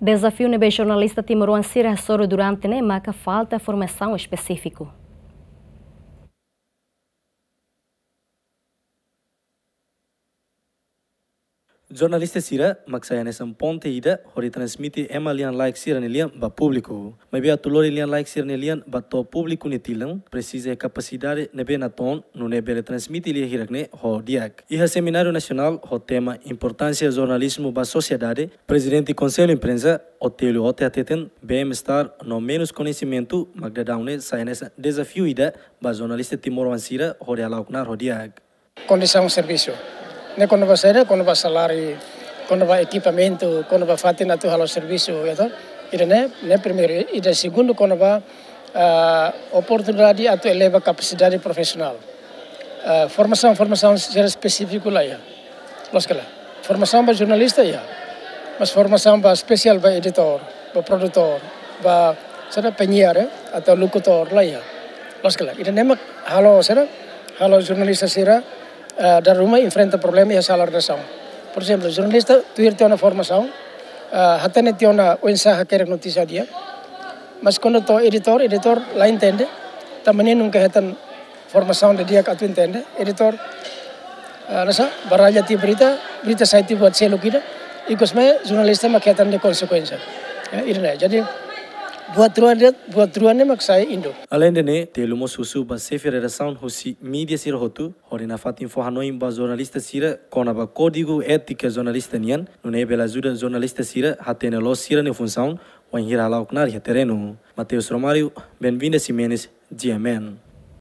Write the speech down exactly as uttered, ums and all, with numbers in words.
Dezafiu ne'ebé jornalista timoroan sira hasoru durante ne'e maka falta formasaun espesífiku. Jornalista sira mak sai hanesan ponte ida hodi transmite ema lian-laek sira-nia lian ba públiku. Maibé atu lori lian-laek sira-nia lian ba to'o públiku nia tilun, presiza iha kapasidade ne'ebé natoon, nune'e bele transmite lia hirak-ne'e ho di'ak. Iha semináriu nasionál ho tema Importánsia Jornalizmu ba Sosiedade, Prezidente Konsellu Imprensa, Otélio Ote hateten, bem-estar no menus koñesimentu mak daudaun ne'e sai hanesan dezafiu ida ba jornalista timoroan sira hodi hala'o knaar ho di'ak. Kondisaun servisu. Ne'e kona-ba saida, kona-ba saláriu, kona-ba ekipamentu, kona-ba fatin atu halo servisu, ya toh. Ida-ne'e, ne'e primeiru, ida segundu kona-ba, ah, oportunidade atu eleva kapasidade profisionál. Ah, formasaun, formasaun sira espesífiku la iha. Loos ka lae? Formasaun ba jornalista iha. Mas formasaun ba espesiál ba editór, ba produtór, ba saida, penyiar, eh, atau lokutór la iha. Loos ka lae? Ida-ne'e mak halo saida, halo jornalista sira, eh, dala ruma enfrenta problema iha sala redasaun. Por ezemplu, jornalista tuir tiha ona formasaun, eh, hatene tiha ona oinsá hakerek notísia di'ak. Mas kuandu to'o editór, editór la entende, tanba nia nunka hetan formasaun didi'ak atu entende, editór, ah, rasa baralla tiha berita, berita sai tiha buat seluk ida, ikus mai jornalista mak hetan nia konsekuénsia. Ya, ida-ne'e. Jadi, buat rua de'it, buat rua ne'e mak sai induk. Aleinde ne'e, Tellu mós husu ba xefe redasaun husi mídia sira hotu, hodi nafatin fó hanoin ba jornalista sira kona-ba kódigu étika jornalista nian, nune'e bele ajuda jornalista sira hatene loos sira-nia funsaun, wainhira hala'o knaar iha terrenu. Mateus Romário, Benvinda Ximenes, G M N.